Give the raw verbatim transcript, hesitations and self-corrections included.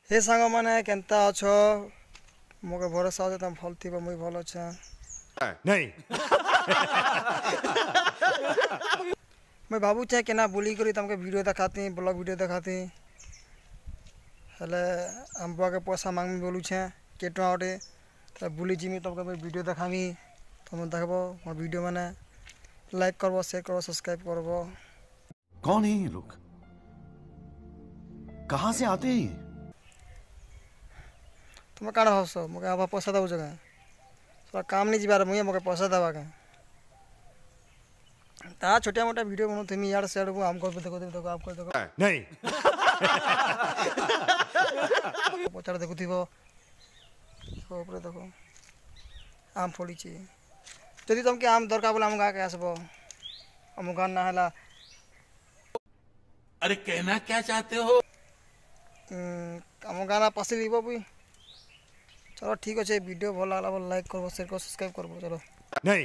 ହେ ସାଙ୍ଗମାନେ, କେନ୍ତା ଅଛ? ମୋକେ ଭରସା ଅଛେ ତମେ ଭଲ୍ ଥିବ, ମୁଇଁ ଭଲ୍ ଅଛେ। नहीं। ମୁଇଁ ଭାବୁଛେ କେନା ବୁଲିକରି ତମକେ ଭିଡ଼ିଓ ଦେખાତି, ବ୍ଲଗ୍ ଭିଡ଼ିଓ ଦେખાତି। ହେଲେ ଆମ ବୁଆକେ ପଇସା ମାଗମି ବୋଲୁଛେ କେତେ ଟଙ୍କା ଗୋଟେ, ତ ବୁଲି ଯିମି, ତମକେ ମୁଇଁ ଭିଡ଼ିଓ ଦେખાମି। ତମେ ଦେଖବ ମୋର ଭିଡ଼ିଓ ମାନେ, ଲାଇକ୍ କରବ, ସେୟାର କରବ, ସବସ୍କ୍ରାଇବ୍ କରବ। कौन है ये लोग? कहां से आते हैं ये? ତୁମେ କାଣା ଭାବଛ? ମୋକେ ଆବା ପଇସା ଦେଉଛ କାଁ? ସେଟା କାମ ନି ଯିବାର, ମୁଇଁ ମୋକେ ପଇସା ଦେବା କାଁ? ତା ଛୋଟିଆ ମୋଟା ଭିଡ଼ିଓ ବନଉଥିମି ଇଆଡ଼େ ସିଆଡ଼କୁ। ଆମ ଘର ଦେଖୁଥିବି, ଦେଖ, ଆମ ଦେଖ। नहीं। ପଛଆଡ଼େ ଦେଖୁଥିବ, ଉପରେ ଦେଖ, ଆମ୍ ଫଳିଛି। ଯଦି ତମକେ ଆମ୍ ଦରକାର ବୋଲେ ଆମ ଗାଁକେ ଆସବ। ଆମ ଗାଁ ନାଁ ହେଲା अरे, कहना क्या चाहते हो? ଆମ ଗାଁ ନା ପାଶେ ଯିବ ବି। ଚलो, ଠିକ୍ ଅଛେ। ଭିଡ଼ିଓ ଭଲ ଲାଗଲା ବୋଲେ ଲାଇକ୍ କରବ, ସେୟାର କରବ, ସବସ୍କ୍ରାଇବ୍ କରବ। ଚलो। नहीं।